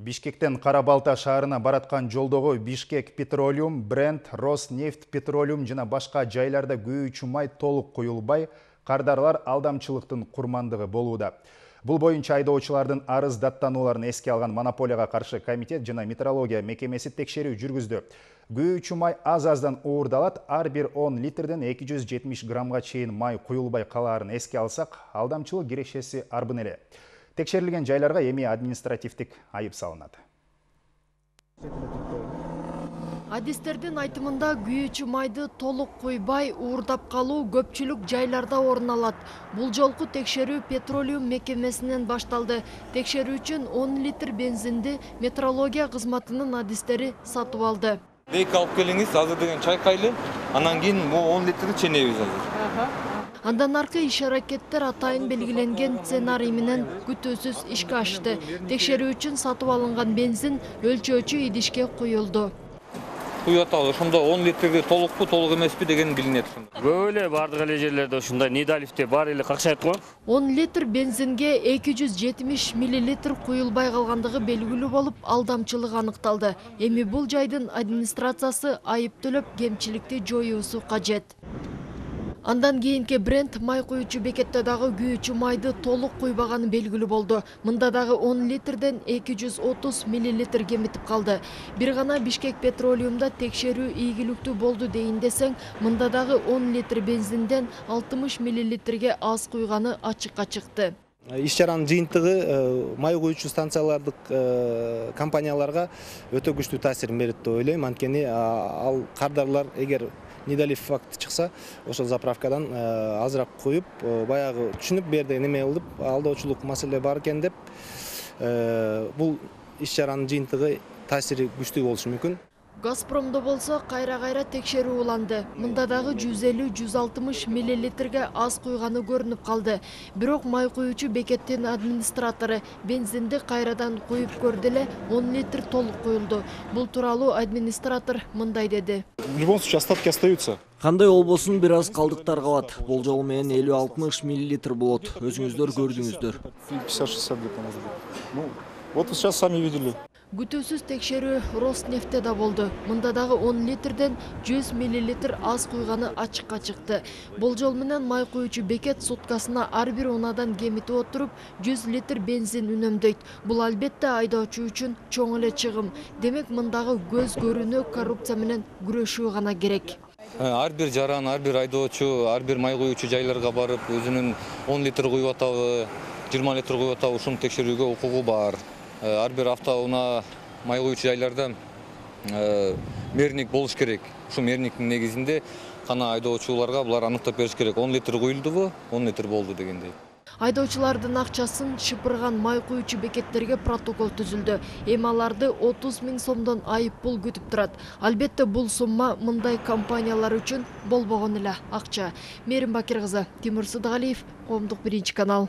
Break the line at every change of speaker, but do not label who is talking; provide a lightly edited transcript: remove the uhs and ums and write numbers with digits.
Бишкектен Кара-Балта шаарына бараткан жолдогу Бишкек Петролиум, Бренд, Роснефть Петролиум жана башка жайларда күйүүчү май толук куюлбай, кардарлар алдамчылыктын курмандыгы болууда. Бул боюнча айдоочулардын арыз даттанууларын эске алган Монополияга каршы комитет жана метрология мекемеси текшерүү жүргүздү. Күйүүчү май аз-аздан уурдалат, ар бир 10 литрден 270 граммга чейин май куюлбай калаарын эске алсак, алдамчылык кирешеси арбын эле. Текшерилген жайларга эми административдик айып салынат.
Адистердин айтымында күйүүчү майды толук куйбай уурдап калуу көпчүлүк жайларда орун алат. Бул жолку текшерүү Петролиум мекемесинен башталды. Текшерүү үчүн 10 литр бензинди метрология кызматынын адистери сатып алды.
Дейк алып келиңиз, азыр деген чайкайлы, анан кийин 10 литрди ченебиз азыр.
Андан аркы иш-аракеттер атайын белгиленген сценарий менен күтүүсүз ишке ашты. Текшерүү үчүн сатып алынган бензин өлчөөчү идишке куюлду.
Куюп аталы, ошондо 10 литрди толукпу, толук эмеспи деген билинет.
Көп эле бардык эле жерлерде ушундай нидалифте бар эле какшайт го.
10 литр бензинге 270 мл куюлбай калгандыгы белгилүү болуп, алдамчылык аныкталды. Эми бул жайдын администрациясы айып төлөп, кемчиликти жоюусу кажет. Андан кийинки Бренд май куючу бекетте дагы күйүүчү майды толук куйбаганы белгилүү болду. Мында дагы 10 литрден 230 мл кемитип калды. Бир гана Бишкек Петролиумда текшерүү ийгиликтүү болду дейин десең, мында дагы 10 литр бензинден 60 мл аз куйганы ачыкка чыкты.
Иш-чаранын жыйынтыгы май куючу станциялардык компанияларга өтө күчтүү таасирин берет деп ойлойм. Анткени ал кардарлар эгер нидалиф факт чыкса, ошол заправкадан азыраак куюп, баягы түшүнүп берде неме кылып, алдоочулук маселе бар экен деп, бул иш-чаранын жыйынтыгы таасири күчтүү болушу мүмкүн.
Газпромдо болсо кайра-кайра текшерүү уланды. Мында дагы 150-160 мл аз куйганы көрүнүп калды. Бирок май куючу бекеттин администратору бензинди кайрадан куюп көрдү эле, 10 литр толук куюлду. Бул тууралуу администратор мындай деди.
В любом случае остатки остаются.
Кандай болбосун бир аз калдыктар калат. Болжол менен 50-60 мл болот. Өзүңүздөр көрдүңүздөр.
50-60 где-то может быть. Ну, вот вы сейчас сами видели.
Күтүүсүз текшерүү Роснефтте да болду. Мында дагы 10 литрден 100 мл аз куйганы ачыкка чыкты. Болжол менен май куючу бекет суткасына ар бир унадан кемитип отуруп 100 литр бензин үнөмдөйт. Бул албетте айдоочу үчүн чоң эле чыгым. Демек мындагы көз көрүнө коррупция менен күрөшүү гана керек.
Ар бир жаран, ар бир айдоочу, ар бир май куючу жайларга барып, өзүнүн 10 литр куюп атабы, 20 литр куюп атабы, ушуну текшерүүгө укугу бар. Ар бир автоунаа май куючу жайларда мерник болуш керек. Ушул мерниктин негизинде гана айдоочуларга булар аныктап бериш керек. 10 литр куюлдубу, 10 литр болду дегендей.
Айдоочулардын акчасын шыпырган май куючу бекеттерге протокол түзүлдү. Эми аларды 30 000 сомдон айып пул күтүп турат. Албетте бул сумма мындай компаниялар үчүн болбогон эле акча. Мээрим Бакир кызы, Тимур Сыдыгалиев, Коомдук 1 канал.